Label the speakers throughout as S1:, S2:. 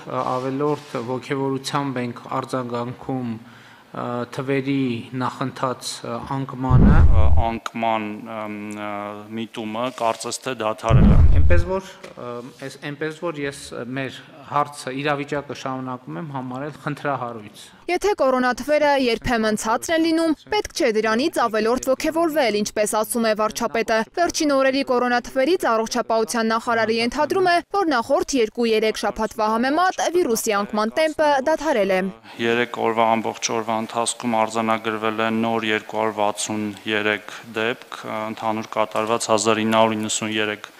S1: ավելորդ ոգևորությամբ ենք արձագանքում թվերի նախընթաց անկմանը։
S2: Անկման միտումը կարծես թե դադարել է։
S1: Այնպես որ ես մեր հարցը իրավիճակը շարունակում եմ համարել խնդրահարույց։
S3: Եթե կորոնաթվերը երբեմն ցածր են լինում, պետք չէ դրանից ավելորդ ոգևորվել, ինչպես ասում է վարչապետը։ Վերջին օրերի կորոնաթվերից առողջապահության նախարարը ենթադրում է, որ նախորդ 2-3 շաբաթվա համեմատ վիրուսի անկման տեմպը դադարել է։
S2: 3 օրվա ամբողջ օրվա ընթացքում արձանագրվել է նոր 263 դեպք, ընդհանուր կատարված 1993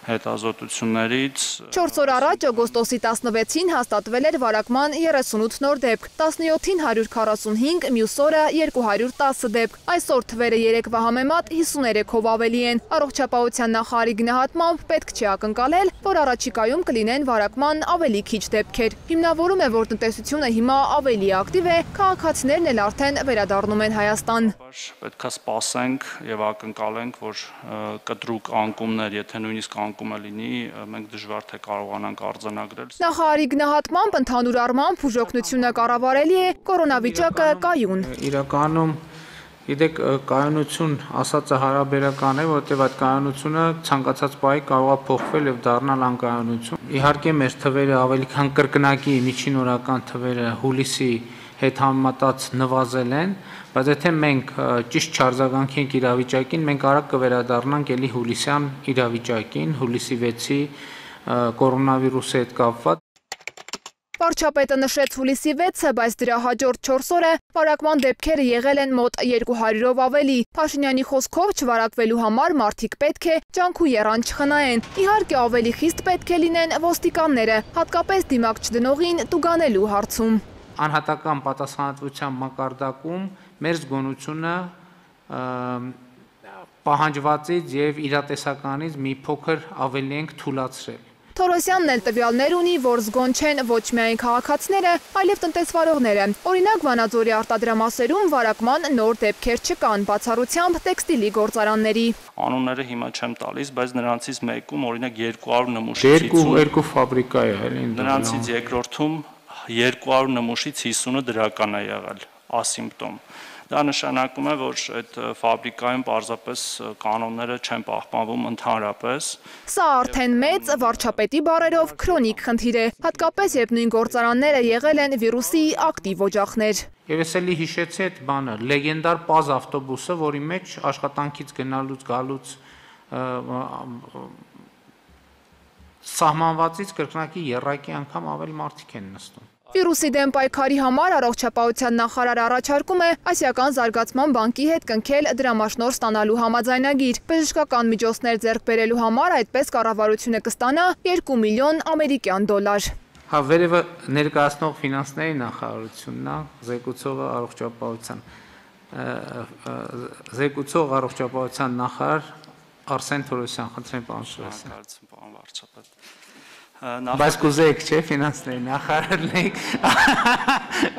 S2: հետազոտություններից։
S3: 4 օր առաջ օգոստոսի 16-ին հաստատվել էր վարակման 38 նոր դեպք, 17-ին 145, մյուս օրը 210 դեպք։ Այսօր թվերը 3-վա համեմատ 53-ով ավելի են։ Առողջապահության նախարարի գնահատմամբ պետք չէ ակնկալել, որ առաջիկայում կլինեն վարակման ավելի քիչ դեպքեր։ Հիմնավորում է, որ տնտեսությունը հիմա ավելի ակտիվ է, քաղաքացիներն էլ արդեն վերադառնում են Հայաստան։
S2: Պետք է սպասենք եւ ակնկալենք, որ կտրուկ անկումներ, եթե նույնիսկ անկումը լինի, մենք դժվար թե կարողանանք արձանագրել։
S3: Նախարարի գնահատմամբ ընդհանուր առմամբ բուժօգնությունը կառավարելի է, կորոնավիճակը կայուն։
S1: Իրականում գիտեք, կայունություն ասածը հարաբերական է, որովհետև այդ կայունությունը ցանկացած պահի կարող է փոխվել եւ դառնալ անկայունություն։ Իհարկե մեր թվերը ավելի քան կրկնակի միջին օրական թվերը հուլիսի հետ համեմատած նվազել են, բայց եթե մենք ճիշտ չարձագանքենք իրավիճակին, մենք արագ կվերադառնանք էլի հուլիսյան իրավիճակին, հուլիսի 6-ի կորոնավիրուսի հետ կապված։
S3: Վարչապետը նշեց հուլիսի 6-ը, բայց դրա հաջորդ 4 օրը վարակման դեպքերը եղել են մոտ 200-ով ավելի։ Փաշինյանի խոսքով չվարակվելու համար մարդիկ պետք է ջանք ու եռան չխնայեն։ Իհարկե ավելի խիստ պետք է լինեն ոստիկանները, հատկապես դիմակ չդնողին տուգանելու հարցում։
S1: Անհատական պատասխանատվության մակարդակում մեր զգոնությունը պահանջվածից եւ իրատեսականից մի փոքր ավելի ենք թուլացրել։
S3: Թորոսյանն էլ տվյալներ ունի, որ զգոն չեն ոչ միայն քաղաքացիները, այլև տնտեսվարողները։ Օրինակ Վանաձորի արտադրամասերում վարակման նոր դեպքեր չկան, բացառությամբ տեքստիլի գործարանների։
S2: Անունները հիմա չեմ տալիս, բայց նրանցից մեկում օրինակ 200 նմուշից
S1: 2 ֆաբրիկա է, էլի։
S2: Նրանցից երկրորդում 200 նմուշից 50-ը դրական է եղել, ասիմպտոմ։ Դա նշանակում է, որ այդ ֆաբրիկայում պարզապես կանոնները չեն պահպանվում ընդհանրապես։
S3: Սա արդեն մեծ վարչապետի բառերով քրոնիկ խնդիր է, հատկապես երբ նույն գործարանները եղել են վիրուսի ակտիվ օջախներ։
S1: Եվ ես էլի հիշեցի այդ բանը, լեգենդար Պազ ավտոբուսը, որի մեջ աշխատանքից գնալուց գալուց սահմանվածից կրկնակի եռակի անգամ ավել մարդիկ են նստում։
S3: Վիրուսի դեմ պայքարի համար առողջապահության նախարարը առաջարկում է Ասիական զարգացման բանկի հետ կնքել դրամաշնորհ ստանալու համաձայնագիր։ Բժշկական միջոցներ ձեռք բերելու համար այդպես կառավարությունը կստանա 2 միլիոն ամերիկյան դոլար։
S1: Հա, վերևը ներկայացնող ֆինանսների նախարարությունն է, զեկուցող առողջապահության նախարար Արսեն Թորոսյան, խնդրեմ պարոն Թորոսյան։ Բայց կուզեիք, չէ, ֆինանսների նախարարն եք,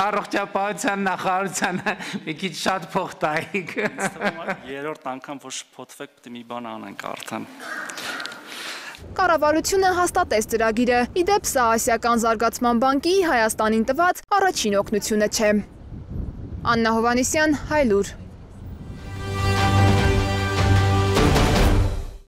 S1: առողջապահության նախարարությանը մի քիչ շատ փող տայիք։
S2: Երրորդ անգամ որ շփոթվեք, պետք է մի բան անենք արդեն։
S3: Կառավարությունը հաստատեց ծրագիրը։ Իդեպ սա Ասիական զարգացման բանկի Հայաստանին տված առաջին օգնությունը չէ։ Աննա Հովհաննիսյան, Հայլուր։